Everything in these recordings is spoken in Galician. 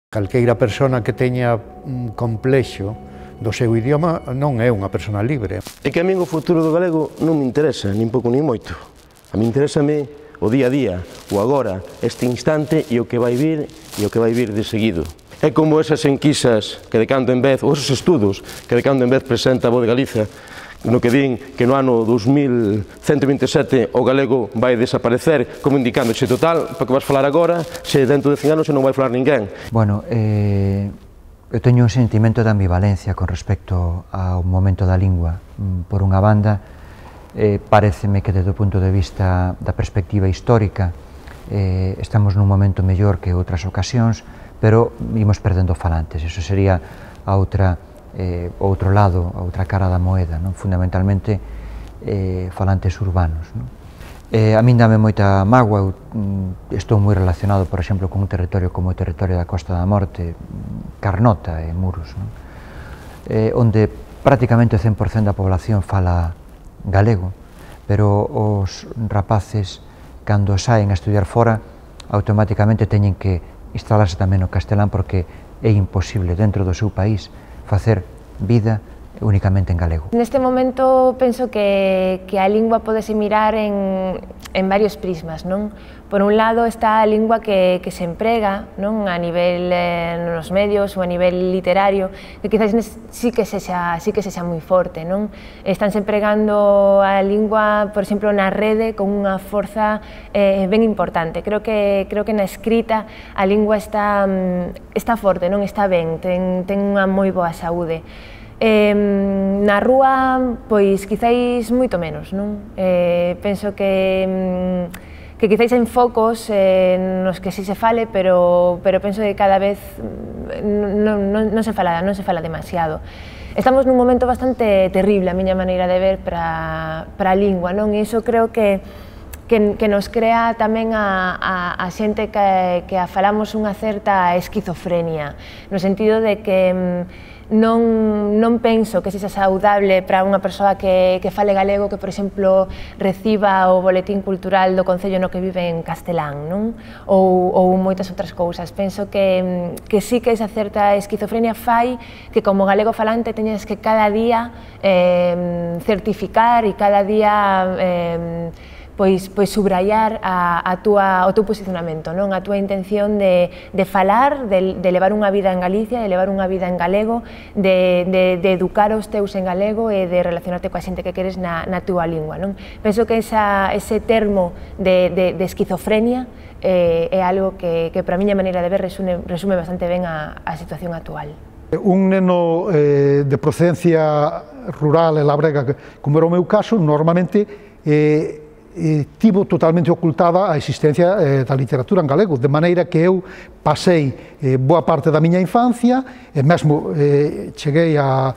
Calqueira persona que teña un complexo do seu idioma non é unha persona libre. É que a min o futuro do galego non me interesa, nin pouco nin moito. A mí interésame o día a día, o agora, este instante e o que vai vir de seguido. É como esas enquisas que de cando en vez, ou esos estudos que de cando en vez presenta a Voz de Galiza, no que din que no ano 2127 o galego vai desaparecer, como indicando se total, para que vas falar agora, se dentro de 100 anos non vai falar ninguén. Bueno, eu teño un sentimento de ambivalencia con respecto ao momento da lingua. Por unha banda, pareceme que desde o punto de vista da perspectiva histórica estamos nun momento mellor que outras ocasións, pero imos perdendo falantes. Eso sería a outro lado, a outra cara da moeda, non? Fundamentalmente falantes urbanos. Non? A min dame moita mágoa, estou moi relacionado, por exemplo, con un territorio como o territorio da Costa da Morte, Carnota e Muros, non? Onde prácticamente o 100% da población fala galego, pero os rapaces, cando saen a estudiar fora, automáticamente teñen que instalarse tamén no castelán porque é imposible dentro do seu país facer vida únicamente en galego. Neste momento penso que a lingua podese mirar en varios prismas, non? Por un lado está a lingua que se emprega, non? A nivel nos medios ou a nivel literario, que quizás sí que sexa moi forte, non? Estánse empregando a lingua, por exemplo, na rede con unha forza ben importante. Creo que na escrita a lingua está forte, non? Está ben, ten unha moi boa saúde. Na rúa, pois, quizáis moito menos, non? Penso que quizáis hai focos nos que si se fale, pero penso que cada vez non se fala demasiado. Estamos nun momento bastante terrible, a miña maneira de ver, para a lingua, non? E iso creo que nos crea tamén a xente que a falamos unha certa esquizofrenia, no sentido de que non penso que sexa saudable para unha persoa que fale galego que, por exemplo, reciba o boletín cultural do concello no que vive en castelán, non? Ou moitas outras cousas. Penso que sí que esa certa esquizofrenia fai que como galego falante teñas que cada día certificar e cada día pois subrayar o teu posicionamento, non? A túa intención de falar, de levar unha vida en Galicia, de levar unha vida en galego, de educar os teus en galego e de relacionarte coa xente que queres na túa lingua, non? Penso que ese termo de esquizofrenia é algo que para a miña maneira de ver resume bastante ben a situación actual. Un neno de procedencia rural e labrega, como era o meu caso, normalmente tivo totalmente ocultada a existencia da literatura en galego, de maneira que eu pasei boa parte da miña infancia e mesmo cheguei á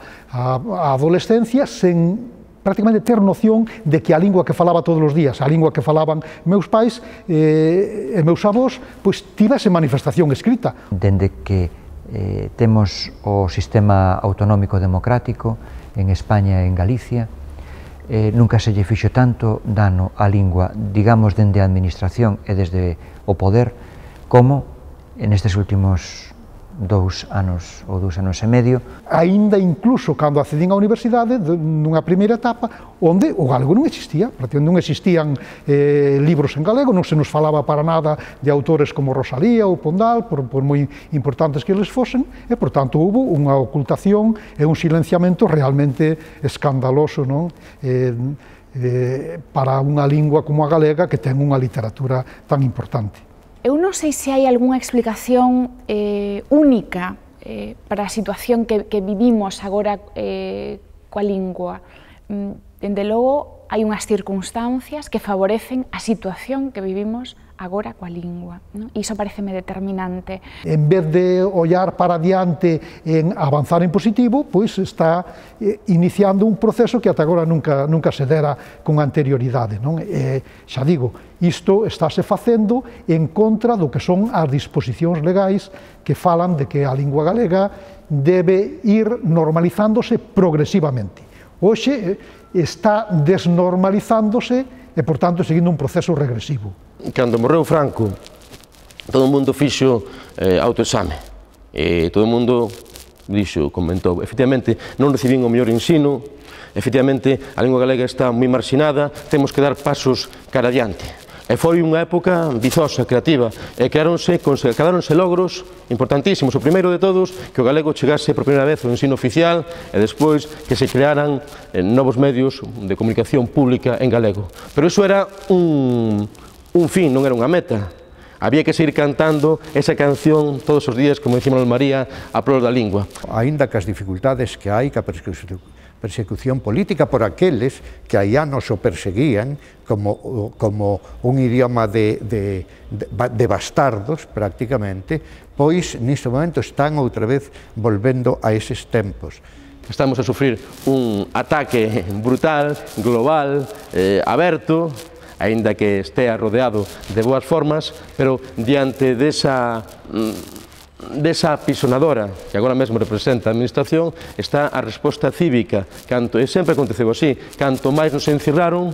adolescencia sen prácticamente ter noción de que a lingua que falaba todos os días, a lingua que falaban meus pais e meus avós, pois tivese manifestación escrita. Dende que temos o sistema autonómico democrático en España e en Galicia, nunca se lle fixo tanto dano á lingua, digamos, dende a administración e desde o poder, como nestes últimos 2 anos ou 2 anos e medio. Aínda incluso cando accedín á universidade, nunha primeira etapa, onde o galego non existía, non existían libros en galego, non se nos falaba para nada de autores como Rosalía ou Pondal, por moi importantes que eles fosen, e, por tanto, houve unha ocultación e un silenciamento realmente escandaloso, non? Para unha lingua como a galega que ten unha literatura tan importante. Eu non sei se hai algunha explicación única para a situación que vivimos agora coa lingua. Dende logo, hai unhas circunstancias que favorecen a situación que vivimos agora coa lingua, non? Iso pareceme determinante. En vez de ollar para diante en avanzar en positivo, pois está iniciando un proceso que ata agora nunca se dera con anterioridade, non? Xa digo, isto estáse facendo en contra do que son as disposicións legais que falan de que a lingua galega debe ir normalizándose progresivamente. Hoxe está desnormalizándose e, por tanto, seguindo un proceso regresivo. Cando morreu Franco, todo o mundo fixo autoexame. todo o mundo dixo, comentou, efectivamente non recibín o mellor ensino, efectivamente a lingua galega está moi marxinada, temos que dar pasos cara adiante. E foi unha época vizosa, creativa, e quedáronse logros importantísimos. O primeiro de todos, que o galego chegase por primeira vez ao ensino oficial e despois que se crearan novos medios de comunicación pública en galego. Pero iso era un fin, non era unha meta. Había que seguir cantando esa canción todos os días, como dicía Manuel María, a prol da lingua. Aínda que as dificultades que hai, que a persecución política por aqueles que hai anos o perseguían como un idioma de bastardos, prácticamente, pois neste momento están outra vez volvendo a eses tempos. Estamos a sufrir un ataque brutal, global, aberto, aínda que estea rodeado de boas formas, pero diante desa pisonadora que agora mesmo representa a administración, está a resposta cívica, e sempre aconteceu así, canto máis nos encerraron,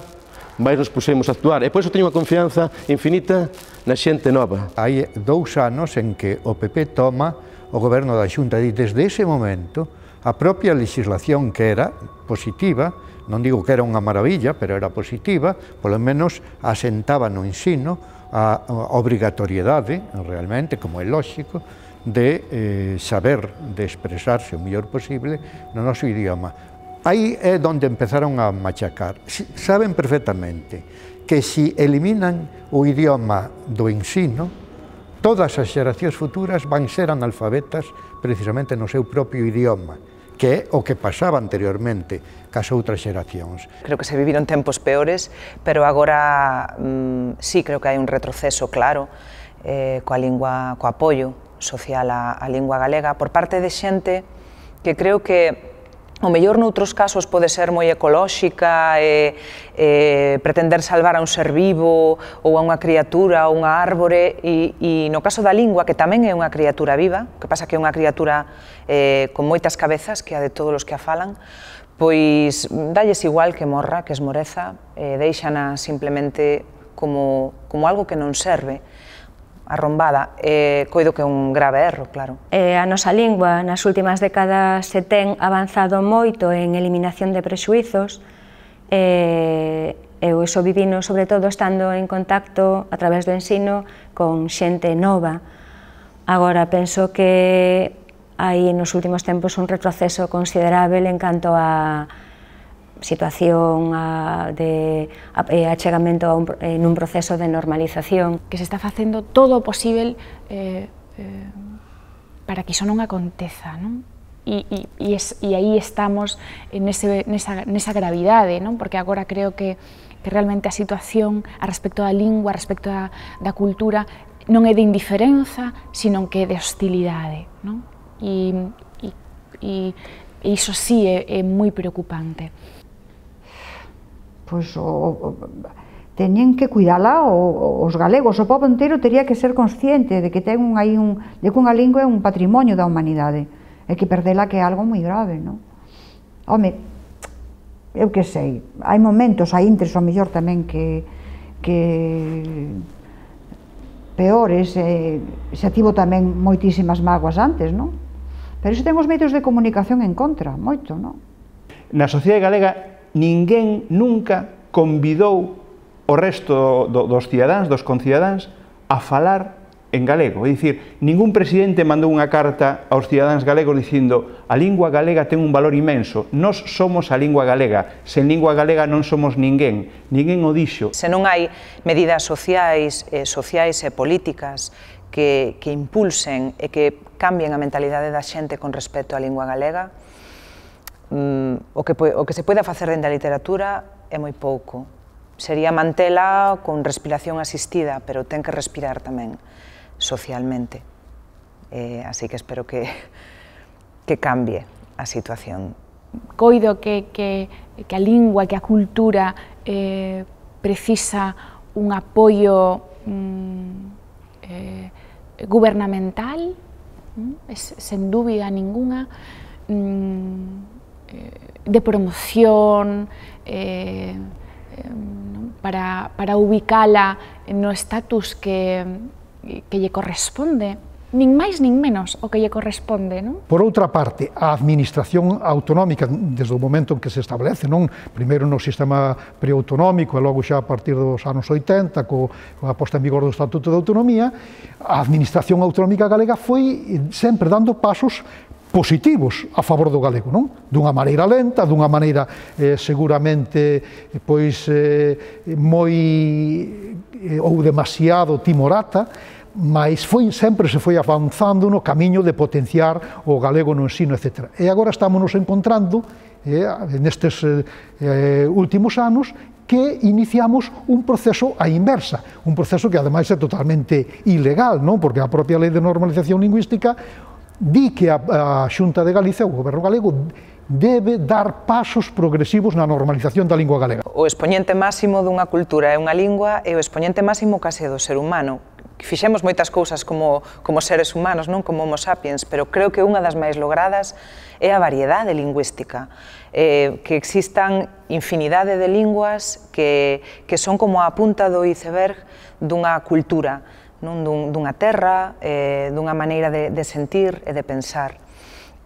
máis nos pusemos a actuar, e por iso teño unha confianza infinita na xente nova. Hai 2 anos en que o PP toma o goberno da Xunta e desde ese momento a propia legislación que era positiva, non digo que era unha maravilla, pero era positiva, polo menos asentaba no ensino a obrigatoriedade, realmente, como é lógico, de saber, de expresarse o mellor posible no noso idioma. Aí é onde empezaron a machacar. Saben perfectamente que se eliminan o idioma do ensino, todas as xeracións futuras van ser analfabetas precisamente no seu propio idioma, que é o que pasaba anteriormente cas outras xeracións. Creo que se viviron tempos peores, pero agora sí creo que hai un retroceso claro co apoio social á lingua galega por parte de xente que creo que o mellor noutros casos pode ser moi ecolóxica e pretender salvar a un ser vivo ou a unha criatura ou unha árbore e no caso da lingua, que tamén é unha criatura viva, que pasa que é unha criatura con moitas cabezas, que é a de todos os que a falan, pois dalles igual que morra, que esmoreza, deixana simplemente como algo que non serve, arrombada, coido que é un grave erro, claro. A nosa lingua nas últimas décadas se ten avanzado moito en eliminación de prexuizos, eu iso vivino sobre todo estando en contacto a través do ensino con xente nova. Agora penso que hai nos últimos tempos un retroceso considerável en canto a situación de achegamento nun proceso de normalización. Que se está facendo todo o posible para que iso non aconteza, non? E aí estamos nesa gravidade, non? Porque agora creo que realmente a situación a respecto da lingua, a respecto da cultura, non é de indiferenza, sino que é de hostilidade, non? E iso sí é moi preocupante. Pois teñen que cuidala os galegos, o pobo inteiro teria que ser consciente de que ten de que unha lingua é un patrimonio da humanidade e que perdela que é algo moi grave, non? Home, eu que sei, hai momentos, hai intres ao mellor tamén que peores, xa tivo tamén moitísimas mágoas antes, non? Pero iso ten os medios de comunicación en contra, moito, non? Na sociedade galega ninguén nunca convidou o resto dos cidadáns, dos concidadáns, a falar en galego. É dicir, ningún presidente mandou unha carta aos cidadáns galegos dicindo a lingua galega ten un valor inmenso, nós somos a lingua galega, sen lingua galega non somos ninguén o dixo. Se non hai medidas sociais e políticas que impulsen e que cambien a mentalidade da xente con respecto á lingua galega, o que se poida facer dende a literatura é moi pouco. Sería mantela con respiración asistida, pero ten que respirar tamén socialmente. Así que espero que cambie a situación. Coido que a lingua, que a cultura precisa un apoio gubernamental, sen dúbida ninguna, de promoción, para ubicala no estatus que lle corresponde. nin máis nin menos o que lle corresponde, non? Por outra parte, a administración autonómica, desde o momento en que se establece, non? Primeiro no sistema preautonómico e logo xa a partir dos anos 80, coa posta en vigor do Estatuto de Autonomía, a administración autonómica galega foi sempre dando pasos positivos a favor do galego, non? Dunha maneira lenta, dunha maneira seguramente pois moi ou demasiado timorata, mas sempre se foi avanzando no camiño de potenciar o galego no ensino, etc. E agora estamos nos encontrando nestes últimos anos que iniciamos un proceso á inversa, un proceso que ademais é totalmente ilegal, non? Porque a propia Lei de Normalización Lingüística di que a Xunta de Galicia, o Goberno galego, debe dar pasos progresivos na normalización da lingua galega. O expoñente máximo dunha cultura é unha lingua e o expoñente máximo case do ser humano. Fixemos moitas cousas como seres humanos, non como homo sapiens, pero creo que unha das máis logradas é a variedade lingüística, que existan infinidade de linguas que son como a punta do iceberg dunha cultura, dunha terra, dunha maneira de sentir e de pensar.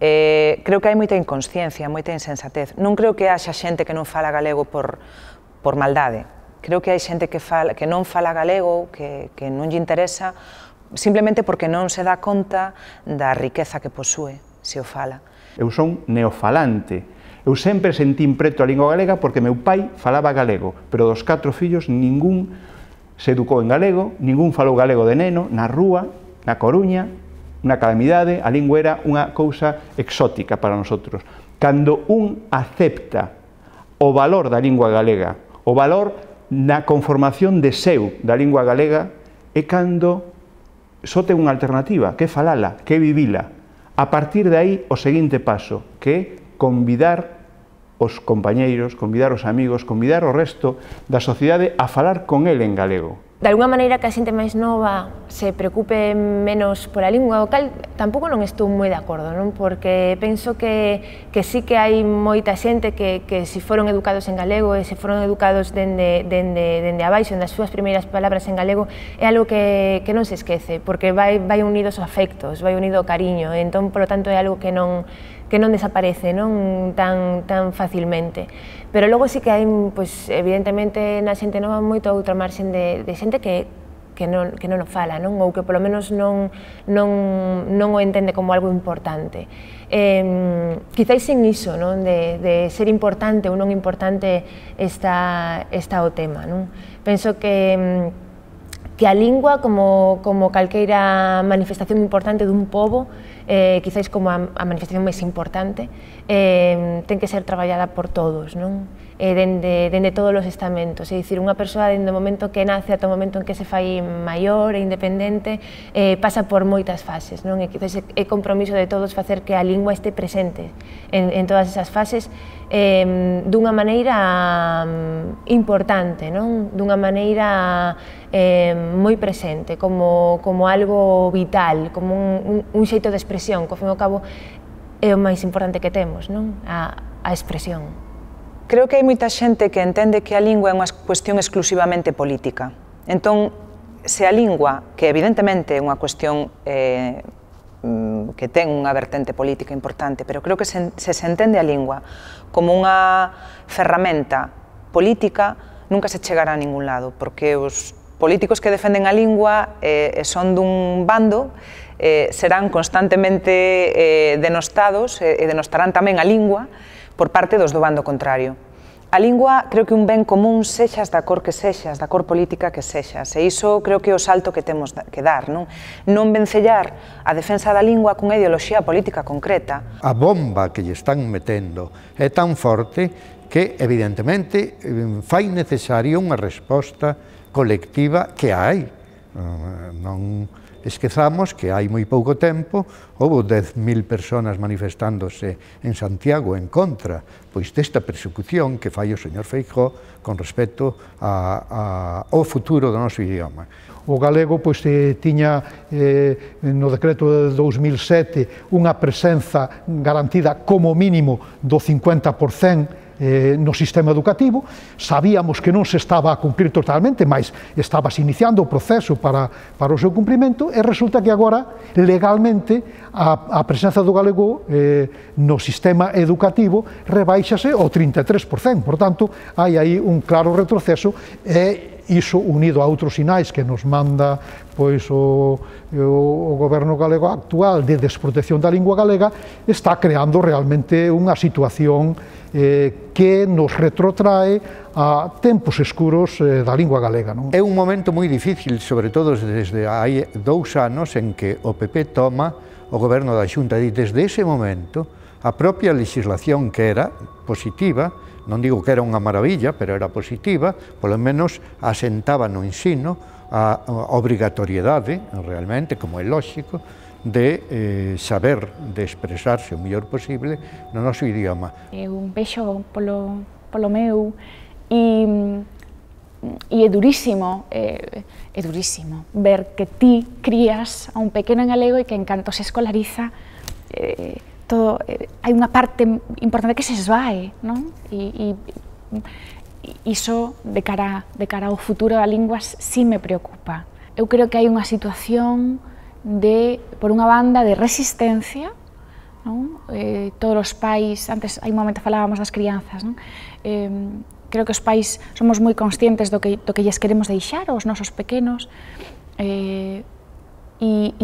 Creo que hai moita inconsciencia, moita insensatez. Non creo que haxa xente que non fala galego por maldade. Creo que hai xente que non fala galego, que non lle interesa, simplemente porque non se dá conta da riqueza que posúe, se o fala. Eu son neofalante. Eu sempre sentín preto a lingua galega porque meu pai falaba galego, pero dos 4 fillos ningún se educou en galego, ningún falou galego de neno, na rúa, na Coruña, na calamidade, a lingua era unha cousa exótica para nosotros. Cando un acepta o valor da lingua galega, o valor na conformación de seu da lingua galega, é cando só ten unha alternativa, que é falala, que é vivila. A partir de aí, o seguinte paso, que é convidar os compañeiros, convidar os amigos, convidar o resto da sociedade a falar con el en galego. De alguna maneira que a xente máis nova se preocupe menos pola lingua, o cal tampouco non estou moi de acordo, non? Porque penso que sí que hai moita xente que se foron educados en galego e se foron educados dende abaixo, nas súas primeiras palabras en galego, é algo que non se esquece, porque vai unidos os afectos, vai unido o cariño, e entón, polo tanto, é algo que non desaparece non tan facilmente. Pero logo sí que hai, pois, evidentemente, na xente nova moito outra marxen de xente que non o fala, non? Ou que polo menos non o entende como algo importante. Quizáis sin iso, non? De ser importante ou non importante está o tema, non? Penso que a lingua, como calqueira manifestación importante dun pobo, quizáis como a manifestación máis importante, ten que ser traballada por todos, non? Dende todos os estamentos, é dicir, unha persoa dende o momento que nace ata o momento en que se fai maior e independente, pasa por moitas fases, non? E quizáis é compromiso de todos facer que a lingua este presente en todas esas fases dunha maneira importante, non? Dunha maneira moi presente, como algo vital, como un xeito de expresión, que ao fin e ao cabo é o máis importante que temos, non? A expresión. Creo que hai moita xente que entende que a lingua é unha cuestión exclusivamente política. Entón, se a lingua, que evidentemente é unha cuestión que ten unha vertente política importante, pero creo que se entende a lingua como unha ferramenta política, nunca se chegará a ningún lado, porque os políticos que defenden a lingua son dun bando, serán constantemente denostados e denostarán tamén a lingua por parte dos do bando contrario. A lingua creo que un ben común, sexas da cor que sexas, da cor política que sexas, e iso creo que é o salto que temos que dar, non? Non vencellar a defensa da lingua cunha ideoloxía política concreta. A bomba que lle están metendo é tan forte que, evidentemente, fai necesaria unha resposta colectiva que hai. Non esquezamos que hai moi pouco tempo houve 10.000 personas manifestándose en Santiago en contra pois desta persecución que fai o señor Feijóo con respecto ao futuro do noso idioma. O galego pois tiña no decreto de 2007 unha presenza garantida como mínimo do 50% no sistema educativo. Sabíamos que non se estaba a cumprir totalmente, mas estabas iniciando o proceso para o seu cumprimento, e resulta que agora, legalmente, a presenza do galego no sistema educativo rebaixase ao 33%. Por tanto, hai aí un claro retroceso, e iso unido a outros sinais que nos manda pois o goberno galego actual de desprotección da lingua galega, está creando realmente unha situación que nos retrotrae a tempos escuros da lingua galega. É un momento moi difícil, sobre todo desde hai 2 anos en que o PP toma o goberno da Xunta, e desde ese momento a propia legislación, que era positiva, non digo que era unha maravilla, pero era positiva, polo menos asentaba no ensino a obrigatoriedade, realmente, como é lógico, de saber, de expresarse o mellor posible no noso idioma. Eu vexo polo meu e é durísimo ver que ti crías a un pequeno en galego e que en canto se escolariza hai unha parte importante que se esvae, non? E iso de cara ao futuro da lingua sí me preocupa. Eu creo que hai unha situación por unha banda, de resistencia, non? Todos os pais, antes hai un momento falábamos das crianzas, non? Creo que os pais somos moi conscientes do que lles queremos deixar aos nosos pequenos, e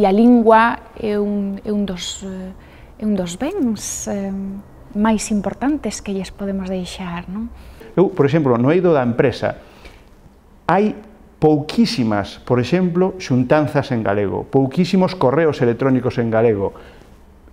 a lingua é un dos bens máis importantes que lles podemos deixar, non? Eu, por exemplo, no eido da empresa, hai pouquísimas, por exemplo, xuntanzas en galego, pouquísimos correos electrónicos en galego.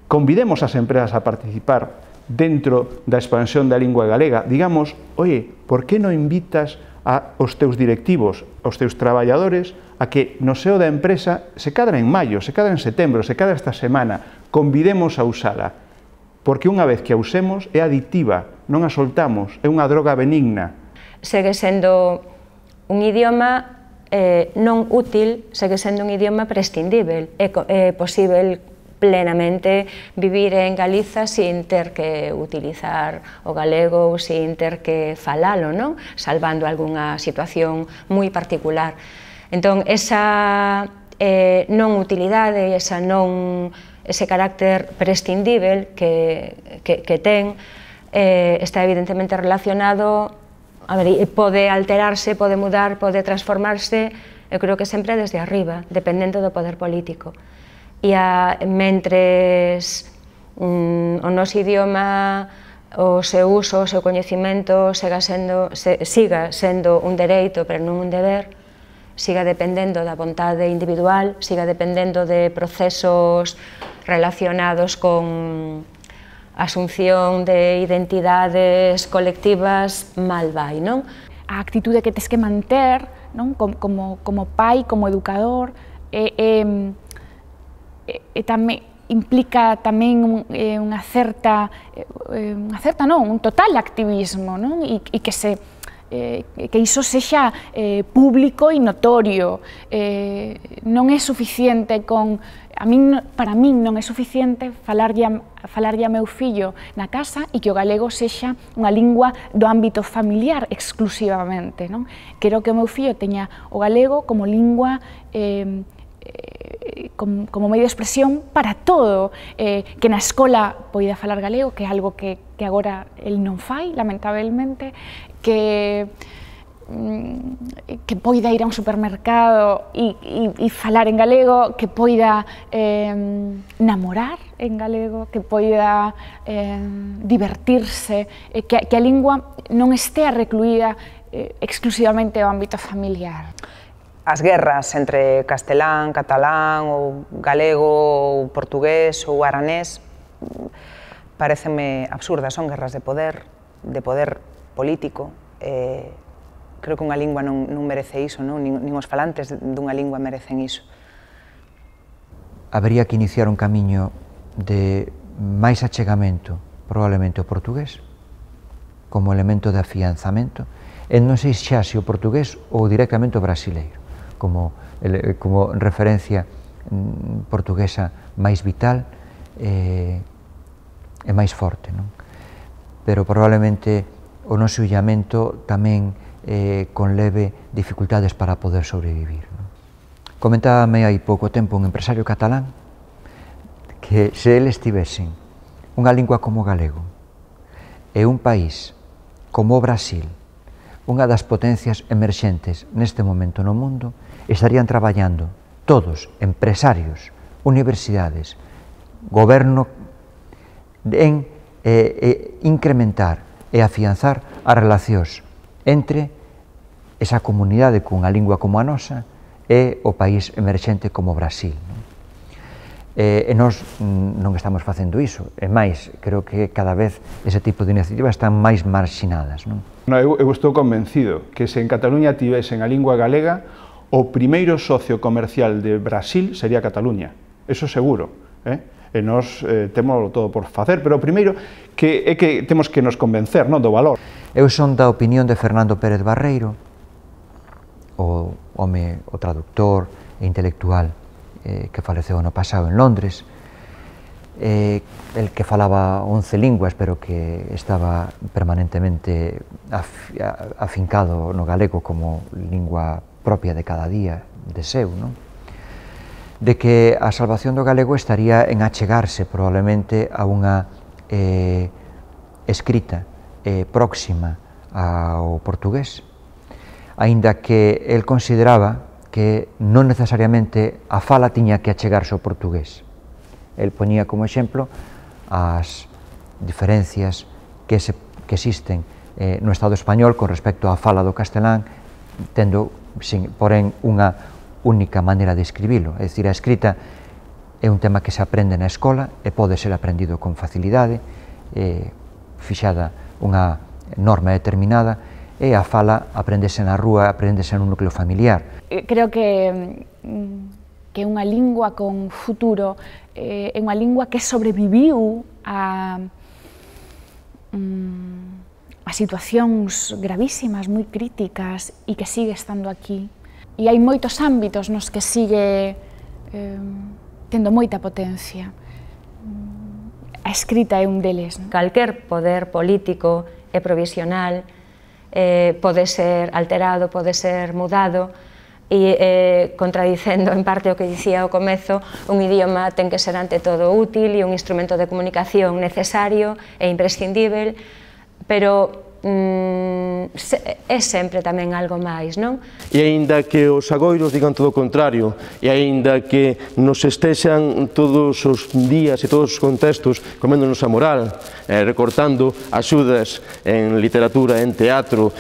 Convidemos as empresas a participar dentro da expansión da lingua galega. Digamos, oye, por que non invitas aos teus directivos, aos teus traballadores, a que no seo da empresa, se cadra en maio, se cadra en setembro, se cadra esta semana, convidemos a usala, porque unha vez que a usemos é adictiva, non a soltamos, é unha droga benigna. Segue sendo un idioma non útil, segue sendo un idioma prescindível. É posible plenamente vivir en Galiza sin ter que utilizar o galego ou sin ter que falalo, non? Salvando algunha situación moi particular. Entón, esa non utilidade, ese carácter prescindível que ten, está evidentemente relacionado, pode alterarse, pode mudar, pode transformarse, eu creo que sempre desde arriba, dependendo do poder político. E mentres o noso idioma, o seu uso, o seu coñecemento siga sendo un dereito, pero non un deber, siga dependendo da vontade individual, siga dependendo de procesos relacionados con asunción de identidades colectivas, mal vai, non? A actitude que tes que manter, non? Como pai, como educador, implica tamén un total activismo, non? E que iso sexa público e notorio. Non é suficiente para min non é suficiente falarlle a meu fillo na casa e que o galego sexa unha lingua do ámbito familiar exclusivamente, non? Quero que o meu fillo teña o galego como lingua como medio de expresión para todo, que na escola poida falar galego, que é algo que agora el non fai, lamentablemente, que poida ir a un supermercado e falar en galego, que poida namorar en galego, que poida divertirse, que a lingua non estea recluída exclusivamente ao ámbito familiar. As guerras entre castelán, catalán, ou galego, ou portugués, ou aranés, parecenme absurdas, son guerras de poder político. Creo que unha lingua non merece iso, nin os falantes dunha lingua merecen iso. Habería que iniciar un camiño de máis achegamento, probablemente o portugués, como elemento de afianzamento, e non sei xa se o portugués ou directamente o brasileiro, como referencia portuguesa máis vital e máis forte, non? Pero probablemente o noso illamento tamén conleve dificultades para poder sobrevivir. Comentábame hai pouco tempo un empresario catalán que se eles tivesen unha lingua como o galego e un país como o Brasil, unha das potencias emerxentes neste momento no mundo, estarían traballando todos, empresarios, universidades, goberno, en incrementar e afianzar as relacións entre esa comunidade cunha lingua como a nosa e o país emerxente como o Brasil. E nós non estamos facendo iso, e máis, creo que cada vez ese tipo de iniciativas están máis marxinadas. Eu estou convencido que se en Cataluña tivesen a lingua galega, o primeiro socio comercial de Brasil sería Cataluña, eso seguro. E nós temos todo por facer, pero o primeiro é que temos que nos convencer do valor. Eu son da opinión de Fernando Pérez Barreiro, o home, o traductor e intelectual que faleceu ano pasado en Londres, el que falaba 11 linguas, pero que estaba permanentemente afincado no galego como lingua propia de cada día, de seu, de que a salvación do galego estaría en achegarse probablemente a unha escrita próxima ao portugués, aínda que el consideraba que non necesariamente a fala tiña que achegarse ao portugués. El poñía como exemplo as diferencias que existen no Estado español con respecto á fala do castelán, tendo, porén, unha única maneira de escribilo. É dicir, a escrita é un tema que se aprende na escola e pode ser aprendido con facilidade, fixada unha norma determinada, e a fala aprendese na rúa, aprendese nun núcleo familiar. Creo que unha lingua con futuro é unha lingua que sobreviviu a situacións gravísimas, moi críticas, e que sigue estando aquí. E hai moitos ámbitos nos que sigue tendo moita potencia. A escrita é un deles. Calquer poder político é provisional, pode ser alterado, pode ser mudado, e contradicendo en parte o que dicía ao comezo, un idioma ten que ser ante todo útil e un instrumento de comunicación necesario e imprescindível, pero é sempre tamén algo máis, non? E aínda que os agoiros digan todo o contrario, e aínda que nos estexan todos os días e todos os contextos coméndonos a moral, recortando axudas en literatura, en teatro,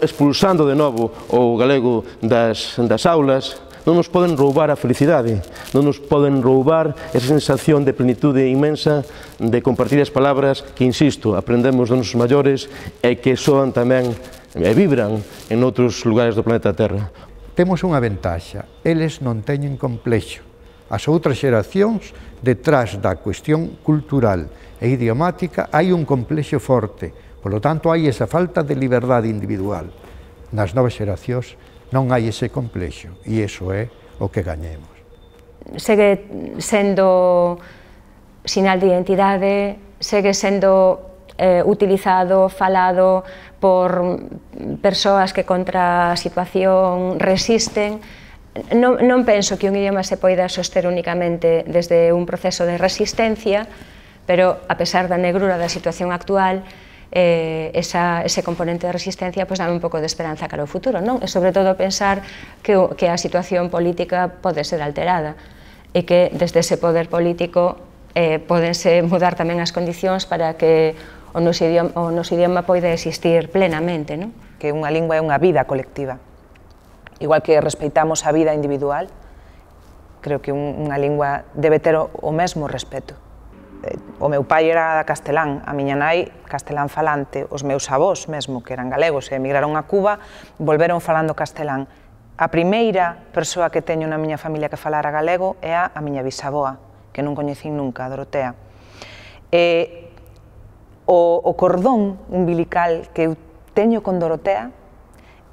expulsando de novo o galego das aulas, non nos poden roubar a felicidade, non nos poden roubar esa sensación de plenitude inmensa de compartir as palabras que, insisto, aprendemos dos nosos maiores e que soan tamén e vibran en outros lugares do planeta Terra. Temos unha ventaxa, eles non teñen complexo. As outras xeracións, detrás da cuestión cultural e idiomática, hai un complexo forte, polo tanto hai esa falta de liberdade individual. Nas novas xeracións non hai ese complexo, e iso é o que gañemos. Segue sendo sinal de identidade, segue sendo utilizado, falado por persoas que contra a situación resisten. Non penso que un idioma se poida soster únicamente desde un proceso de resistencia, pero a pesar da negrura da situación actual, ese componente de resistencia dame un pouco de esperanza cara ao futuro, non? E sobre todo pensar que a situación política pode ser alterada e que desde ese poder político podense mudar tamén as condicións para que o noso idioma poida existir plenamente, non? Que unha lingua é unha vida colectiva. Igual que respeitamos a vida individual, creo que unha lingua debe ter o mesmo respeto. O meu pai era castelán, a miña nai castelán falante, os meus avós mesmo, que eran galegos e emigraron a Cuba, volveron falando castelán. A primeira persoa que teño na miña familia que falara galego é a miña bisaboa, que non coñecín nunca, a Dorotea. O cordón umbilical que eu teño con Dorotea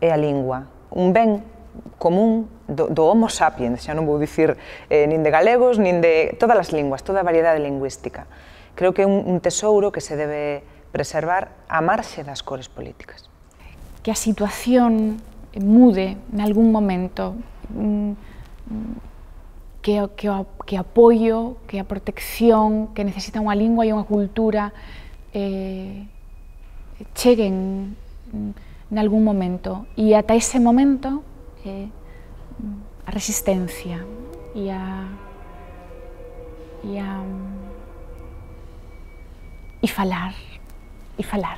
é a lingua, un ben común do Homo sapiens, xa non vou dicir nin de galegos, nin de todas as linguas, toda a variedade lingüística. Creo que é un tesouro que se debe preservar a marxe das cores políticas. Que a situación mude nalgún momento, que apoio, que a protección, que necesita unha lingua e unha cultura cheguen nalgún momento. E ata ese momento a resistencia e falar.